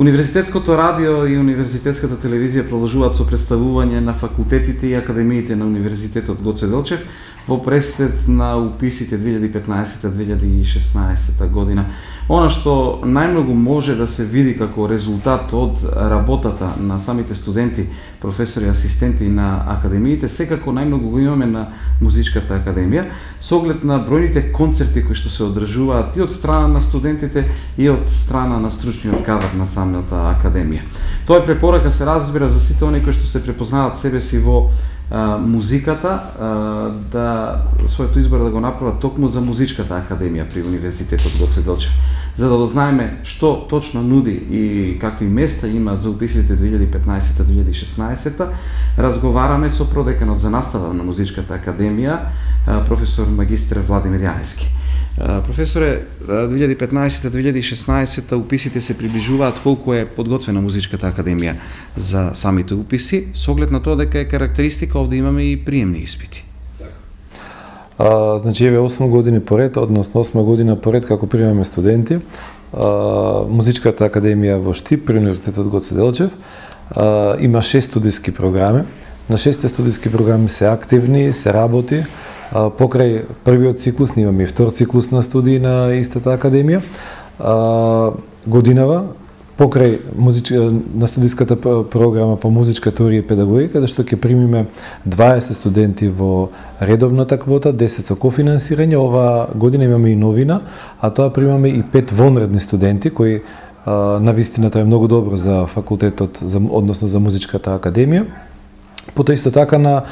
Универзитетското радио и универзитетската телевизија продолжуваат со представување на факултетите и академиите на Универзитетот Гоце Делчев во пресред на уписите 2015-2016 година. Она што најмногу може да се види како резултат од работата на самите студенти, професори и асистенти на академиите, секако најмногу го имаме на Музичката академија, со оглед на бројните концерти кои што се одржуваат и од страна на студентите и од страна на стручниот кадар на самата академија. Тоа е препорака, се разбира, за сите оние кои што се препознаваат себе си во музиката, да своето избор да го направат токму за Музичката академија при Универзитетот Гоце Делчев. За да дознаеме што точно нуди и какви места има за уписите 2015-2016, разговараме со продеканот за настава на Музичката академија, професор магистр Владимир Јаневски. Професоре, 2015-2016 уписите се приближуваат. Колку е подготвена Музичката академија за самите уписи, со оглед на тоа дека е карактеристика овде имаме и приемни испити? Значи, еве 8 години поред, односно 8 година поред како примаме студенти, Музичката академија во Штип при Универзитетот Гоце Делчев има 6 студиски програми. На 6 студиски програми се активни, се работи. Покрај првиот циклус, имаме и втор циклус на студии на истата академија. Годинава, покрај на студиската програма по музичка теорија и педагогика, каде што ќе примиме 20 студенти во редовната квота, 10 со кофинансирање. Ова година имаме и новина, а тоа примаме и 5 вонредни студенти, кои навистина тоа е многу добро за факултетот, односно за Музичката академија. Потоа исто така на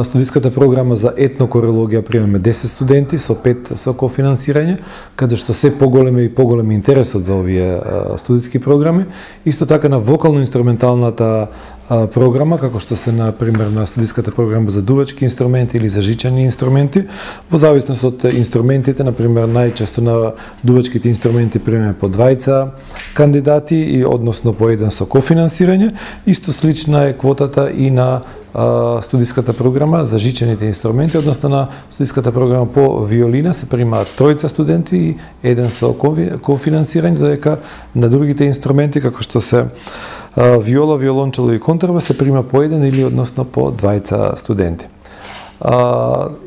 студиската програма за етнокорелогија примаме 10 студенти со 5 со кофинансирање, каде што се поголем и поголем интересот за овие студиски програми. Исто така на вокално-инструменталната програма, како што се на пример на студиската програма за дувачки инструменти или за жичани инструменти, во зависност од инструментите, на пример најчесто на дувачките инструменти примаме по 2 кандидати и односно по 1 со кофинансирање. Исто слична е квотата и на студиската програма за жичените инструменти, односно на студиската програма по виолина се примаат 3 студенти и 1 со кофинансирање, додека на другите инструменти како што се виола, виолончело и контрабас се прима по 1 или односно по 2 студенти.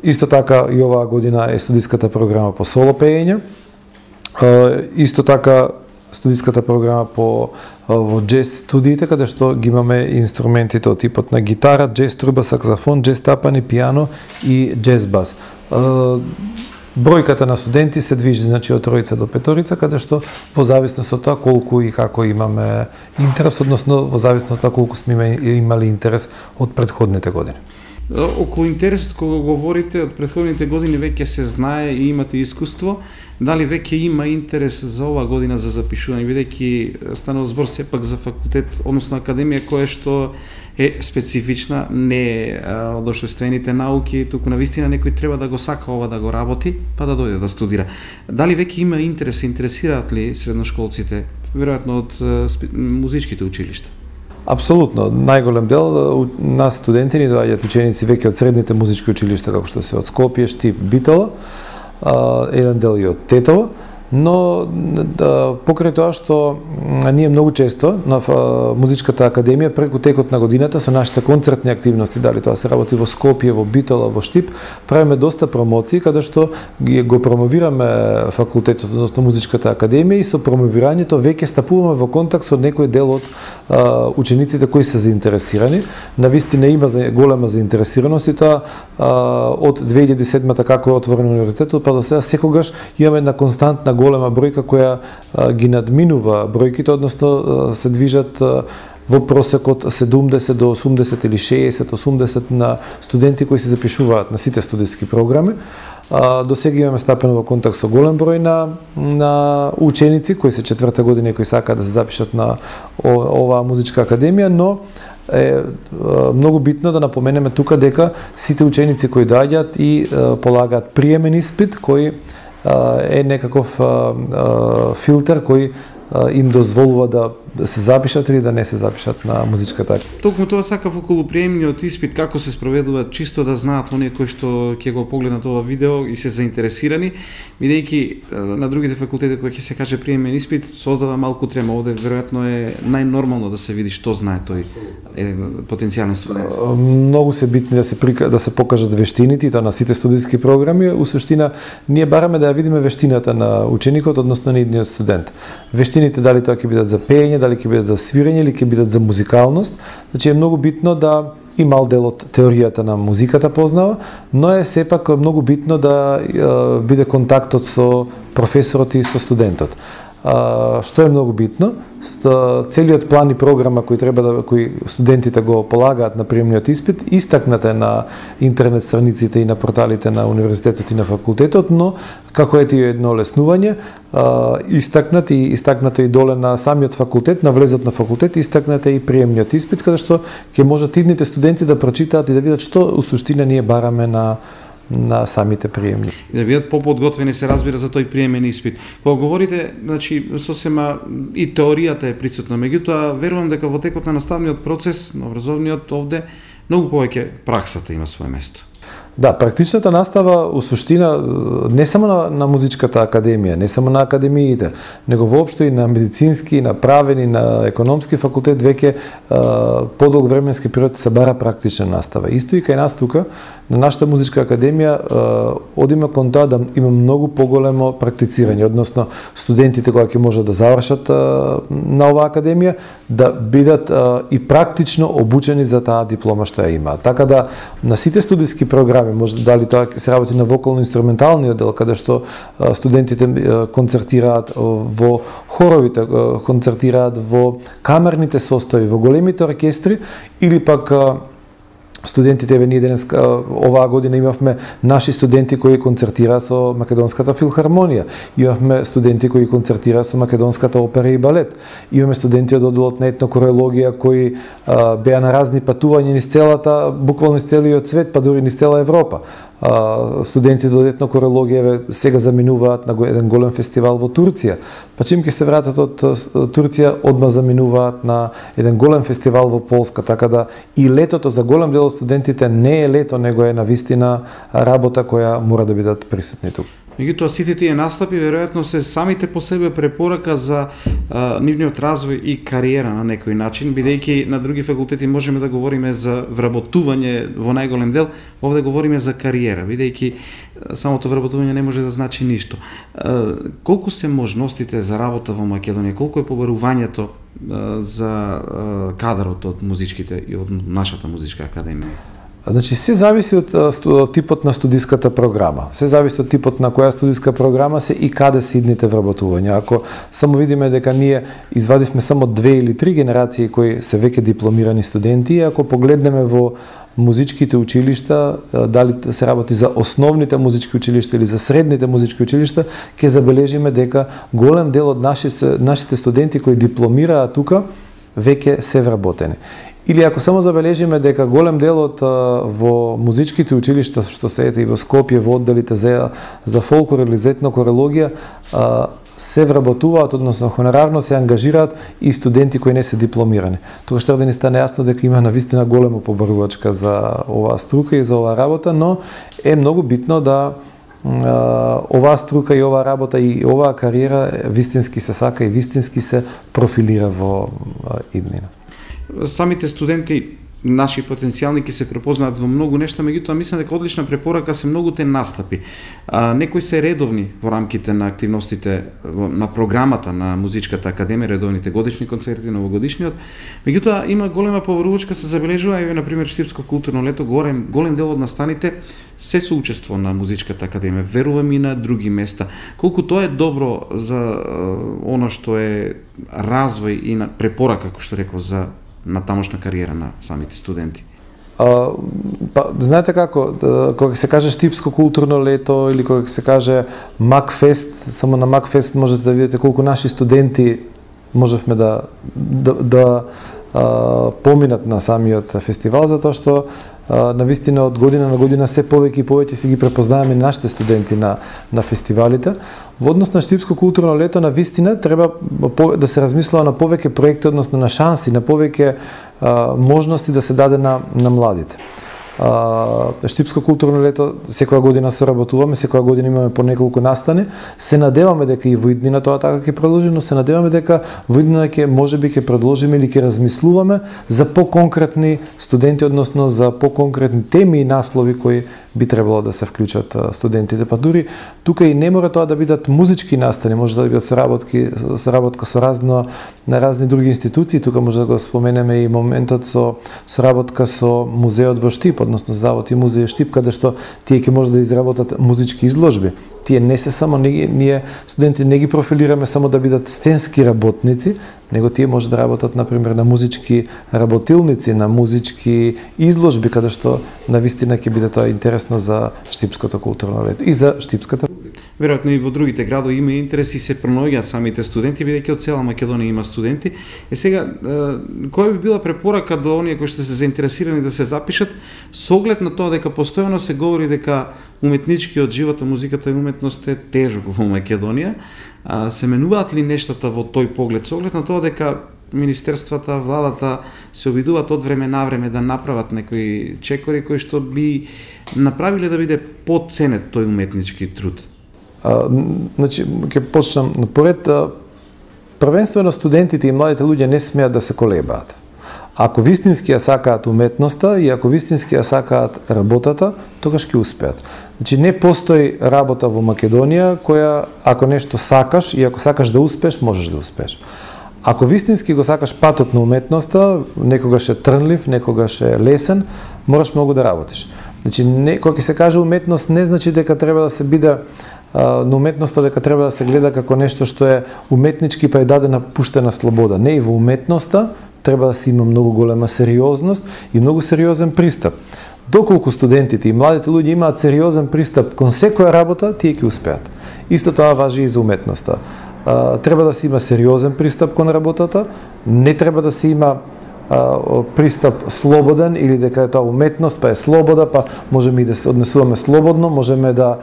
Исто така и оваа година е студиската програма по соло пеење. Исто така студиската програма по во джез студиите, каде што ги имаме инструментите од типот на гитара, джез труба, саксофон, джез тапани, пијано и джез бас. Бројката на студенти се движи, значи, од 3 до 5, каде што во зависност од тоа колку и како имаме интерес, односно во зависност од тоа колку сме имали интерес од претходните години. Околу интересот кога говорите од претходните години веќе се знае и имате искуство, дали веќе има интерес за ова година за запишување, бидејќи станува збор сепак за факултет, односно академија која што е специфична, не е од општествените науки, туку навистина некој треба да го сака ова да го работи, па да дојде да студира. Дали веќе има интерес, интересираат ли средношколците, веројатно од музичките училишта? Апсолутно, најголем дел нас студенти ни доаѓаат ученици веќе од средните музички училишта, како што се од Скопје, Штип, Битола, еден дел и од Тетово, но покрај тоа што ние многу често на Музичката академија преку текот на годината со нашите концертни активности, дали тоа се работи во Скопје, во Битола, во Штип, правиме доста промоции каде што го промовираме факултетот, односно Музичката академија, и со промовирањето веќе стапуваме во контакт со некој дел од учениците кои се заинтересирани. Навистина има голема заинтересираност и тоа од 2007-та како е отворен универзитетот па до сега секогаш имаме една константна голема бројка која ги надминува бројките, односно се движат во просек од 70 до 80 или 60-80 на студенти кои се запишуваат на сите студиски програми. До сега имаме стапено во контакт со голем број на ученици кои се 4-та година и кои сакаат да се запишат на оваа музичка академија, но е многу битно да напоменеме тука дека сите ученици кои доаѓаат и полагаат приемен испит кој е некаков филтер кој им дозволува да да се запишат или да не се запишат на музичката. Токму тоа сакав околу приемниот испит, како се спроведува, чисто да знаат оние кои што ќе го погледнат ова видео и се заинтересирани, бидејќи на другите факултети кои ќе се каже приемен испит создава малку трема. Овде веројатно е најнормално да се види што знае тој потенцијален студент. Многу се битни да се покажат вештините, и тоа на сите студиски програми. У суштина ние бараме да ја видиме вештината на ученикот, односно на идниот студент. Вештините дали тоа ќе бидат за пеење, дали ќе бидат за свирење или ќе бидат за музикалност. Значи е многу битно да и мал дел од теоријата на музиката познава, но е сепак многу битно да биде контактот со професорот и со студентот. Што е многу битно, целиот план и програма кои студентите го полагаат на приемниот испит, истакнат е на интернет страниците и на порталите на универзитетот и на факултетот, но како е едно олеснување, истакнато и доле на самиот факултет, на влезот на факултет, истакнат е и приемниот испит, каде што ќе можат идните студенти да прочитаат и да видат што у суштина ние бараме на самите приемни. И да бидат поподготвени, се разбира, за тој приемен испит. Кога говорите, значи, сосема и теоријата е присутна, меѓутоа верувам дека во текот на наставниот процес, на образовниот овде, многу повеќе праксата има свое место. Да, практичната настава у суштина не само на музичката академија, не само на академиите, него воопшто и на медицински, на правен и на економски факултет веќе подолг временски период се бара практична настава. Исто и кај нас тука, на нашата музичка академија, одиме кон тоа да има многу поголемо практицирање, односно студентите кои ќе можат да завршат на оваа академија, да бидат и практично обучени за таа диплома што ја имаат. Така да на сите студиски програми, може дали тоа се работи на вокално-инструменталниот дел, каде што студентите концертираат во хоровите, концертираат во камерните состави, во големите оркестри, или пак студентите, ние денес, оваа година имавме наши студенти кои концертираа со Македонската филхармонија, имавме студенти кои концертираа со Македонската опера и балет, имаме студенти од одделот на етнокорологија кои беа на разни патувања низ целата, буквално низ целиот свет, па дури низ цела Европа. Студентите од етнокорологија сега заминуваат на еден голем фестивал во Турција, па чим ќе се вратат од Турција, одма заминуваат на еден голем фестивал во Полска, така да и летото за голем дел од студентите не е лето, него е навистина работа која мора да бидат присутни тука. Меѓутоа, сите тие настапи веројатно се самите по себе препорака за нивниот развој и кариера на некој начин, бидејќи на други факултети можеме да говориме за вработување во најголем дел, овде говориме за кариера, бидејќи самото вработување не може да значи ништо. Колку се можностите за работа во Македонија, колку е побарувањето за кадрот од музичките и од нашата музичка академија? Значи, се зависи од типот на студиската програма. Се зависи од типот на која студиска програма се и каде се идните вработувања. Ако само видиме дека ние извадивме само 2 или 3 генерации кои се веќе дипломирани студенти, ако погледнеме во музичките училишта, дали се работи за основните музички училишта или за средните музички училишта, ќе забележиме дека голем дел од нашите студенти кои дипломираат тука веќе се вработени. Или ако само забележиме дека голем делот во музичките училишта што се ете и во Скопје во одделите за фолклор или за етнокорологија се вработуваат, односно хонорарно се ангажираат и студенти кои не се дипломирани. Тоа што да ни стане јасно дека има навистина голема побарувачка за оваа струка и за оваа работа, но е многу битно да оваа струка и оваа работа и оваа кариера вистински се сака и вистински се профилира во иднина. Самите студенти, наши потенцијални, ќе се препознаат во многу нешта, меѓутоа мислам дека одлична препорака се многуте настапи. Некои се редовни во рамките на активностите на програмата на Музичката академија, редовните годишни концерти, новогодишниот. Меѓутоа има голема побарувачка, се забележува, еве на пример Штипско културно лето, голем дел од настаните се соучество на Музичката академија, верувам и на други места. Колку тоа е добро за она што е развој и на препорака, како што реков, за на тамошна кариера на самите студенти? Знаете како, кога се каже Штипско културно лето или кога се каже Макфест, само на Макфест можете да видите колку наши студенти можевме да поминат на самиот фестивал, затоа што навистина од година на година се повеќе и повеќе си ги препознаваме нашите студенти на фестивалите. Во однос на Штипско културно лето, навистина треба да се размислува на повеќе проекти, односно на шанси, на повеќе можности да се даде на младите. Штипско културно лето секоја година соработуваме, секоја година имаме по неколку настани. Се надеваме дека и во иднина тоа така ќе продолжи, но се надеваме дека во иднина можеби ќе продолжиме или ќе размислуваме за поконкретни студенти, односно за поконкретни теми и наслови кои би требало да се вклучат студентите. Па дури тука и не мора тоа да бидат музички настани, може да бидат соработка со разни други институции. Тука може да го споменеме и моментот со соработка со музеот во Штип, односно Завод и музеј Штип, каде што тие ќе може да изработат музички изложби. Тие не се само ние студенти не ги профилираме само да бидат сценски работници, него тие може да работат например на музички работилници, на музички изложби, каде што навистина ќе биде тоа интересно за Штипското културно лето и за Штипската. Веројатно и во другите градови има интерес и се пронаоѓаат самите студенти, бидејќи од цела Македонија има студенти. Сега, која би била препорака до оние кои што се заинтересирани да се запишат, со оглед на тоа дека постојано се говори дека уметничкиот живот, музиката и уметност е тежок во Македонија, се менуваат ли нештата во тој поглед, со оглед на тоа дека министерствата, владата се обидуваат од време на време да направат некои чекори кои што би направиле да биде поценет тој уметнички труд? Значи, ќе почнам напоред. Првенствено студентите и младите луѓе не смеат да се колебаат. Ако вистински ја сакаат уметноста и ако вистински ја сакаат работата, тогаш ќе успеат. Значи, не постои работа во Македонија која, ако нешто сакаш и ако сакаш да успееш, можеш да успееш. Ако вистински го сакаш патот на уметноста, некогаш е трнлив, некогаш е лесен, мораш многу да работиш. Значи, кога ќе се каже уметност, не значи дека треба да се биде на уметноста дека треба да се гледа како нешто што е уметнички па е дадена пуштена слобода. Не, и во уметноста треба да се има многу голема сериозност и многу сериозен пристап. Доколку студентите и младите луѓе имаат сериозен пристап кон секоја работа, тие ќе успеат. Исто тоа важи и за уметноста. Треба да се има сериозен пристап кон работата, не треба да се има пристап слободен или дека е тоа уметност, па е слобода, па можеме и да се однесуваме слободно, можеме да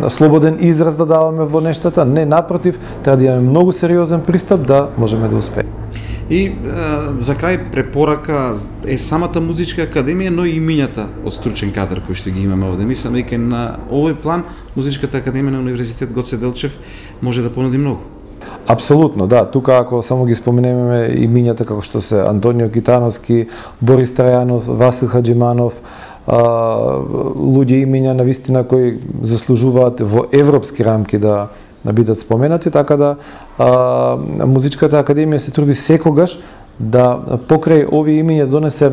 слободен израз да даваме во нештата. Не, напротив, треба да имаме многу сериозен пристап да можеме да успееме. И за крај препорака е самата музичка академија, но и имињата од стручен кадар кои што ги имаме овде. Мислам дека на овој план музичката академија на Универзитет Гоце Делчев може да понуди многу. Апсолутно, да. Тука ако само ги споменеме имињата како што се Антонио Китановски, Борис Трајанов, Васил Хаджиманов, луѓе имиња навистина кои заслужуваат во европски рамки да бидат споменати, така да музичката академија се труди секогаш да покрај овие имиња донесе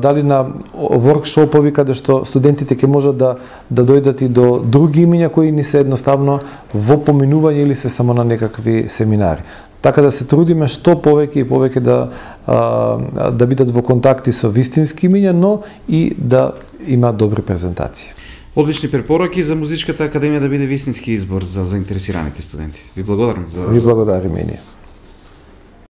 дали на воркшопови каде што студентите ќе можат да дојдат и до други имиња кои ни се едноставно во поминување или се само на некакви семинари. Така да се трудиме што повеќе и повеќе да бидат во контакти со вистински имиња, но и да има добри презентации. Одлични препораки за музичката академија да биде вистински избор за заинтересираните студенти. Ви благодарам за Ви благодариме и ние.